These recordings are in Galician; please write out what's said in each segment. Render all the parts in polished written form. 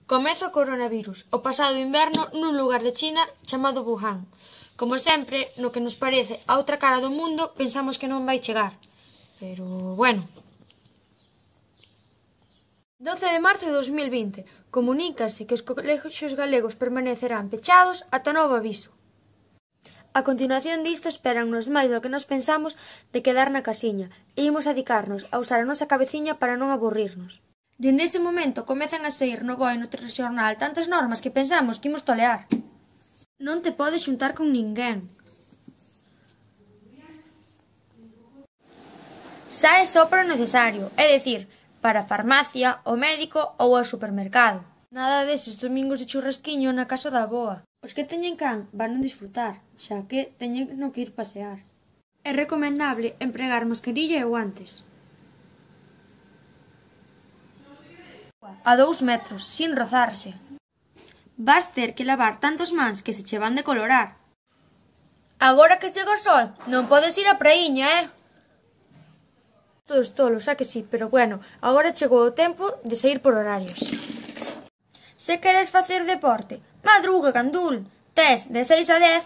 Comeza o coronavirus o pasado inverno nun lugar de China chamado Wuhan. Como sempre, no que nos parece a outra cara do mundo, pensamos que non vai chegar. Pero, bueno. 12 de marzo de 2020. Comunícase que os colexios galegos permanecerán pechados ata novo aviso. A continuación disto espérannos máis do que nos pensamos de quedar na casiña e imos adicarnos a usar a nosa cabeciña para non aburrirnos. Dende ese momento comezan a saír no BOE e no telexornal tantas normas que pensamos que imos tolear. Non te podes xuntar con ninguén. Sae só para o necesario, é dicir, para a farmacia, o médico ou ao supermercado. Nada deses domingos de churrasquiño na casa da avoa. Os que teñen can van a disfrutar, xa que teñen no que ir pasear. É recomendable empregar mascarilla e guantes. A 2 metros, sin rozarse. Vas ter que lavar tantos mans que se che van de colorar. Agora que chega o sol, non podes ir á praíña, Todos tolos, xa que sí, pero bueno, agora chegou o tempo de saír por horarios. Se queres facer deporte, madruga, candul. Tes de 6 a 10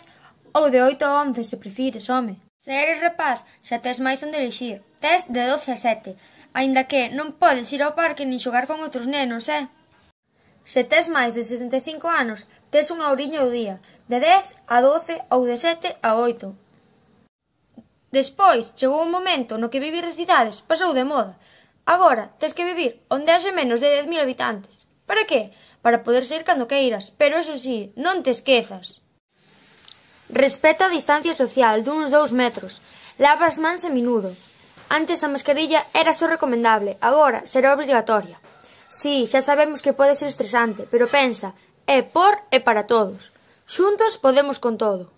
ou de 8 a 11 se prefires, home. Se eres rapaz, xa tes máis onde elixir. Tes de 12 a 7, aínda que non podes ir ao parque nin xogar con outros nenos, Se tes máis de 65 anos, tes unha horiña ao día, de 10 a 12 ou de 7 a 8. Despois, chegou un momento no que vivir nas cidades pasou de moda. Agora, tes que vivir onde haxe menos de 10.000 habitantes. Para que? Para poder saír cando queiras, pero eso sí, non te esquezas. Respeta a distancia social duns 2 metros. Lava as mans a menudo. Antes a mascarilla era só recomendable, agora será obrigatoria. Sí, xa sabemos que pode ser estresante, pero pensa, é por e para todos. Xuntos podemos con todo.